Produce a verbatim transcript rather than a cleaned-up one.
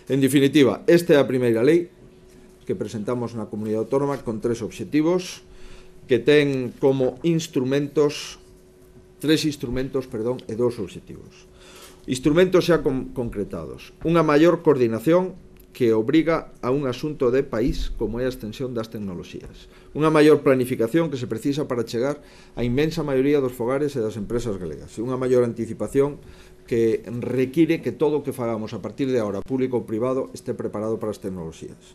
En definitiva, esta é a primeira lei que presentamos na Comunidade Autónoma con tres obxectivos que ten como instrumentos, tres instrumentos, perdón, e dous obxectivos. Instrumentos xa con, concretados. Unha maior coordinación que obriga a un asunto de país como é a extensión das tecnoloxías. Unha maior planificación que se precisa para chegar á inmensa maioría dos fogares e das empresas galegas. E unha maior anticipación que require que todo o que fagamos a partir de agora, público ou privado, este preparado para as tecnoloxías.